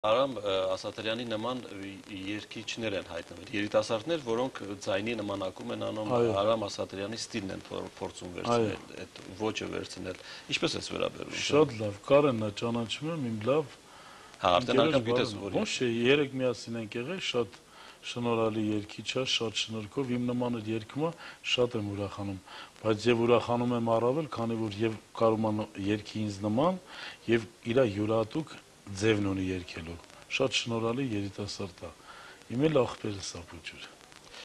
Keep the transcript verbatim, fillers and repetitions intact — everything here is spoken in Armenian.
Արամ Ասատրյանի նման երգիչներ են հայտնվել, երիտասարդներ, որոնք ձայնի նմանակում են անում, Արամ Ասատրյանի ստիլն են փորձում վերցնել, այդ ոճը վերցնել, ինչպես ես վերաբերում։ Շատ լավ, Կարենն ճանաչում եմ, իմ լավ ոչ է, երեք միասին ենք եղել, շատ շնորհալի երգիչ է, շատ շնորհքով, իմ նման այդ երգումը շատ եմ ուրախանում, բայց եւ ուրախանում եմ առավել, քանի որ եւ կարում երգի ինձ նման եւ իր յուրահատուկ ձևն ունի երգելու, շատ շնորհալի երիտասարդ է, իմ էլ ախպերս է Բուջուր։